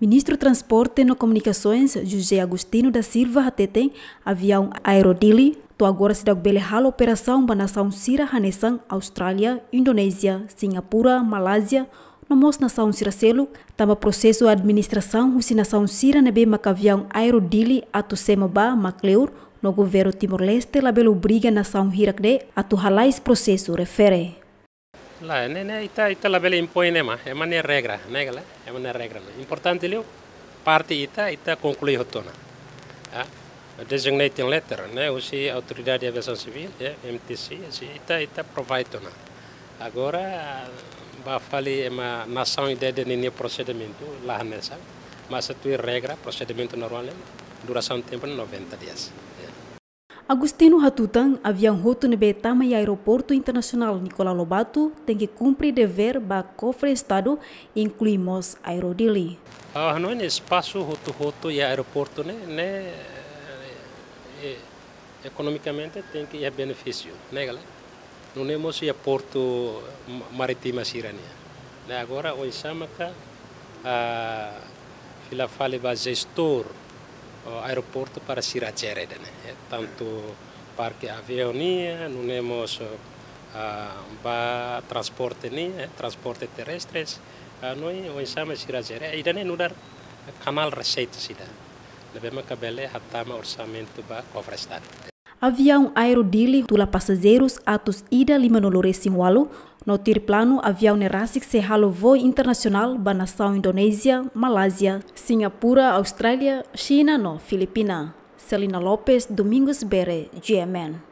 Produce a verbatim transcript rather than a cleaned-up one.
Ministru Transporte no Komunikasoens, José Agostinho da Silva, hateten aviaun Aero Dili to'o agora seidauk bele halo operasaun ba nasaun sira hanesan Austrália, Indonézia, Singapura, Malázia, no mós nasaun sira seluk, tanba prosesu administrasaun husi nasaun sira ne'ebé maka aviaun Aero Dili atu semo ba mak kleur, no governu Timor-Leste labele obriga nasaun hirak-ne'e atu halais prosesu refere. Lae, ne'e, ne'e, ita, ita labele impoin ne'e mak, ema nia regra, ne'e ka lae, ema nia regra ne'e. Importante liu, parte ita, ita konklui hotu ona. Ya, designating letter, ne'e, husi Autoridade de Aviação Civil, ya, M T C, husi ita, ita provide ona. Agora, ba fali ema nasaun ida-idak ninia prosedimentu, la hanesan, mas atu regra, prosedimentu normál, durasaun tempu noventa dias. Ya. Agostinho hatutan, aviaun hotu ne'ebé tama iha Aeroportu Internasionál Nicolau Lobato tenke kumpre devér ba kofre Estadu, inklui mós Aero Dili. Ah, hanoin espasu hotu-hotu iha aeroportu ne'e, ne'e, eh, ekonomikamente tenke iha benefísiu, ne'e ka lae? Nune'e mós iha portu ma-, marítima sira-nian. Ne'e agora oinsá maka, ah, fila fali ba jestór, oh, aeroportu para sira jere ida-ne'e. Eh, tantu parke aviaun nian, nune'e mós, ah, ba transporte nian, eh, transporte terrestres, ah, no oinsá mak sira jere. Ida-ne'e nu'udar kanál reseita ida ne'ebé maka bele hatama orsamentu ba kofre Estadu. Aviaun Aero Dili tula pasajeirus atus ida limanulu resin ualu, no tuir planu aviaun ne'e rasik sei halo voo internasionál ba nasaun Indonézia, Malázia, Singapura, Austrália, Xina no Filipina. Selina Lopes, Domingos Bere, G M N.